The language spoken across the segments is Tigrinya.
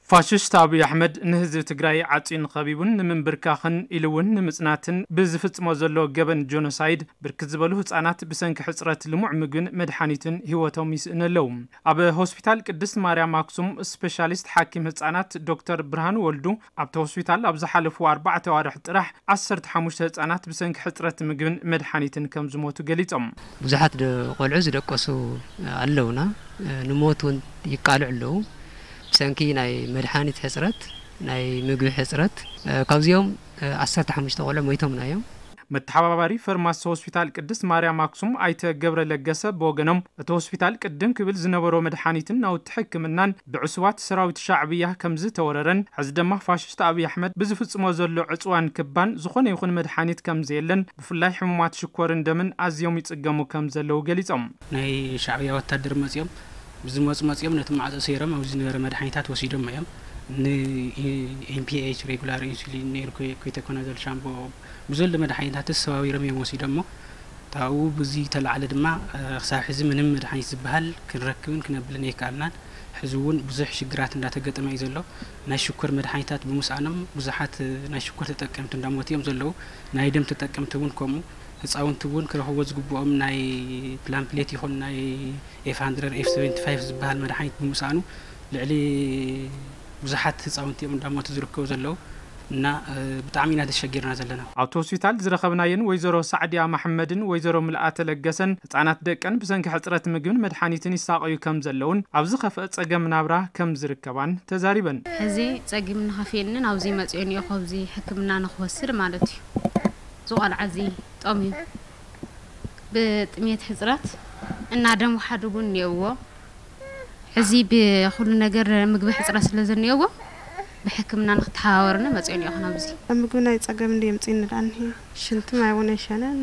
ፋሽስት ኣብይ ኣሕመድ ንህዝቢ ትግራይ ዓጽዩን ኸቢቡን ንምንብርካኽን ኢሉ እውን ንምጽናትን ብዝፍጽሞ ዘሎ ገበን ጆኖሳይድ ብርክት ዝበሉ ህጻናት ብሰንኪ ሕጽረት ልሙዕ ምግብን መድሓኒትን ህይወቶም ይስእኑ ኣለዉ። ኣብ ሆስፒታል ቅድስት ማርያም ኣክሱም ስፔሻሊስት ሓኪም ህጻናት ዶክተር ብርሃኑ ወልዱ ኣብቲ ሆስፒታል ኣብ ዝሓለፉ ኣርባዕተ ኣዋርሕ ጥራሕ ዓሰርተ ሓሙሽተ ህጻናት ብሰንኪ ሕጽረት ምግብን መድሓኒትን ከም ዝሞቱ ገሊጾም። ብዙሓት ደ-፣ ቆልዑ ዝደቀሱ ኣለውና። ንሞት እውን ይቃልዑ ኣለዉ። ብሰንኪ ናይ መድሓኒት ሕጽረት፣ ናይ ምግቢ ሕጽረት፣ ካብዚኦም ዓሰርተ ሓሙሽተ ቆልዑ ሞይቶምና እዮም። መተሓባባሪ ፈርማሲ ሆስፒታል ቅድስት ማርያም ኣክሱም ኣይተ ገብረ ለገሰ ብወገኖም፣ እቲ ሆስፒታል ቅድም ክብል ዝነበሮ መድሓኒትን ናውቲ ሕክምናን ብዕሱባት ሰራዊት ሻዕብያ ከም ዝተወረረን፣ ሕዚ ድማ ፋሽስት ኣብይ ኣሕመድ ብዝፍጽሞ ዘሎ ዕጽዋን ክባን ዝኾነ ይኹን መድሓኒት ከም ዘየለን፣ ብፍላይ ሕሙማት ሽኮርን ደምን ኣዝዮም ይጽገሙ ከም ዘለዉ ገሊጾም። ናይ ሻዕብያ ወታደር መጺኦም፣ ብዝመጹ መጺኦም ነቲ ማዕጾ ሰይሮም ኣብዚ ዝነበረ መድሓኒታት ወሲዶም እዮም። ን-፣ ኤም ፒ ኤች፣ ሬጉላር ኢንሱሊን፣ ኔርኮ፣ ኮይተኮናዞል ሻምቦ፣ ብዘሎ መድሓኒታት ተሰባቢሮም እዮም ወሲዶሞ። ታኡ ብዚ ተላዕለ ድማ፣ እ፣ ክሳብ ሕዚ ምንም መድሓኒት ዝበሃል ክንረክብን ክነብልን ኣይከኣልናን። ሕዚ እውን ብዙሕ ሽግራት እንዳተገጠመ እዩ ዘሎ። ናይ ሽኮር መድሓኒታት ብምስኣኖም ብዙሓት፣ እ፣ ናይ ሽኮር ተጠቀምቲ እንዳሞቱ እዮም ዘለዉ። ናይ ደም ተጠቀምቲ እውን ከምኡ። ህፃውንቲ እውን ክረኽብዎ ዝግብኦም ናይ ፕላምፕሌት ይኹን ናይ ኤፍ ሃንድረድ፣ ኤፍ ሰቨንቲ ፋይቭ ዝበሃል መድሓኒት ብምስኣኑ ልዕሊ ብዙሓት ህፃውንቲ እዮም እንዳሞቱ ዝርከቡ ዘለዉ እና፣ እ፣ ብጣዕሚ ኢና ተሸጊርና ዘለና። ኣብቲ ሆስፒታል ዝረኸብናየን ወይዘሮ ሳዕድያ መሐመድን ወይዘሮ ምልኣተ ለገሰን ህፃናት ደቀን ብሰንኪ ሕፅረት ምግብን መድሓኒትን ይሳቐዩ ከም ዘለውን ኣብ ዝኸፍአ ፀገም ናብራ ከም ዝርከባን ተዛሪበን። ሕዚ ጸጊም ንኸፍየኒ ናብዚ መጺኦ እኒኦ፣ ካብዚ ሕክምና ንኽወስድ ማለት እዩ። እዚ ቆልዓ እዚ ጠምዩ ብጥሜት ሕጽረት እና ደም ውሓድ እውን እኒኦዎ። ሕዚ ብኹሉ ነገር ምግቢ ሕጽረት ስለ ዘኒኦዎ ብሕክምና ንክተሓባበርኒ መጺኦ እኒኦ ናብዚ። ኣብ ምግቢ ናይ ጸገም እንዲ የምጽእኒ ደኣ እኒሄ። ሽንቲ ማይ እውን ኣይሸነን፣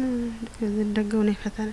ደገ እውን ኣይፈተነ።